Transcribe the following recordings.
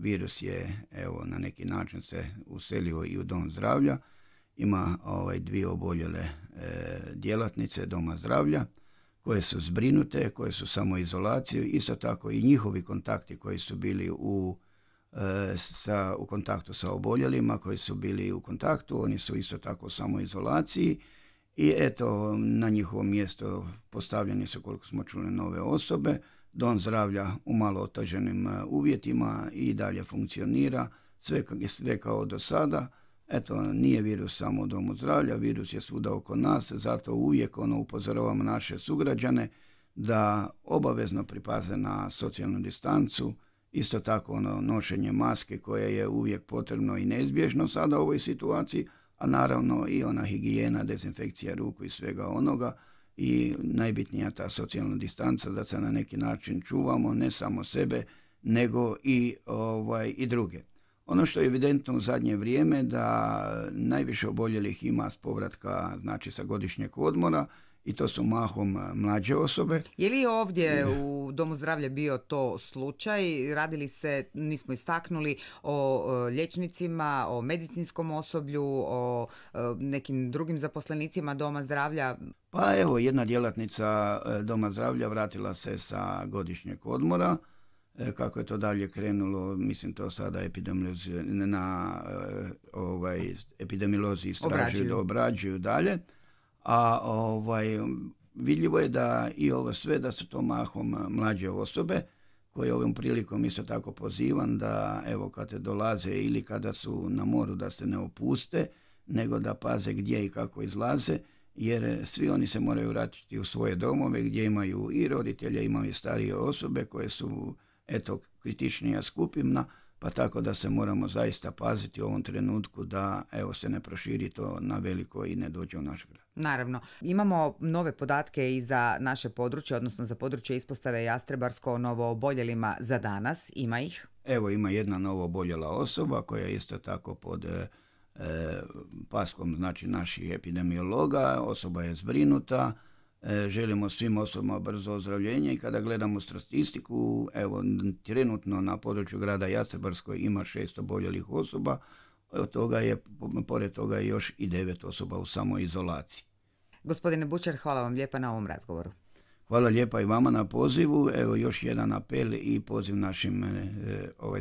virus je evo na neki način se uselio i u dom zdravlja. Ima dvije oboljele djelatnice doma zdravlja koje su zbrinute, koje su samoizolaciju, isto tako i njihovi kontakti koji su bili u kontaktu sa oboljelima, koji su bili u kontaktu, oni su isto tako u samoizolaciji i eto na njihovo mjesto postavljeni su, koliko smo čuli, nove osobe. Dom zdravlja u malo oteženim uvjetima i dalje funkcionira, sve kao do sada. Eto, nije virus samo u domu zdravlja, virus je svuda oko nas, zato uvijek upozoravamo naše sugrađane da obavezno pripaze na socijalnu distancu, isto tako nošenje maske koje je uvijek potrebno i neizbježno sada u ovoj situaciji, a naravno i ona higijena, dezinfekcija ruku i svega onoga i najbitnija ta socijalna distanca da se na neki način čuvamo, ne samo sebe, nego i druge. Ono što je evidentno u zadnje vrijeme da najviše oboljelih ima s povratka, znači sa godišnjeg odmora, i to su mahom mlađe osobe. Je li ovdje u Domu zdravlja bio to slučaj? Radili se, nismo istaknuli, o liječnicima, o medicinskom osoblju, o nekim drugim zaposlenicima Doma zdravlja? Pa evo, jedna djelatnica Doma zdravlja vratila se sa godišnjeg odmora. Kako je to dalje krenulo, mislim to sada epidemiolozi istražuju, obrađuju dalje. A vidljivo je da i ovo sve, da su to mahom mlađe osobe, koje ovom prilikom isto tako pozivam da evo kada dolaze ili kada su na moru da se ne opuste, nego da paze gdje i kako izlaze, jer svi oni se moraju vratiti u svoje domove gdje imaju i roditelje, imaju i starije osobe koje su kritičnija skupina, pa tako da se moramo zaista paziti u ovom trenutku da se ne proširi to na veliko i ne dođe u naš grad. Naravno. Imamo nove podatke i za naše područje, odnosno za područje ispostave Jastrebarsko o novooboljelima za danas. Ima ih? Evo, ima jedna novooboljela osoba koja je isto tako pod paskom naših epidemiologa. Osoba je zbrinuta. Želimo svim osobama brzo ozdravljenje i kada gledamo statistiku, evo trenutno na području grada Jastrebarskoj ima 6 oboljelih osoba, pored toga je još i 9 osoba u samoizolaciji. Gospodine Bučar, hvala vam lijepa na ovom razgovoru. Hvala lijepa i vama na pozivu. Evo još jedan apel i poziv našim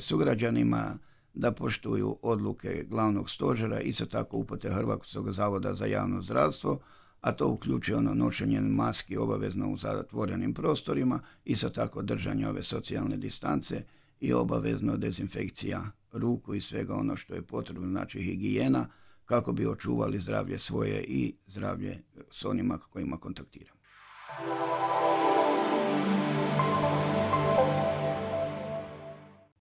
sugrađanima da poštuju odluke glavnog stožera, isto tako upute Hrvatskog zavoda za javno zdravstvo, a to uključuje nošenje maski obavezno u zatvorenim prostorima, isto tako držanje ove socijalne distance i obavezno dezinfekcija ruku i svega ono što je potrebno, znači higijena, kako bi očuvali zdravlje svoje i zdravlje s onima kojima kontaktiramo.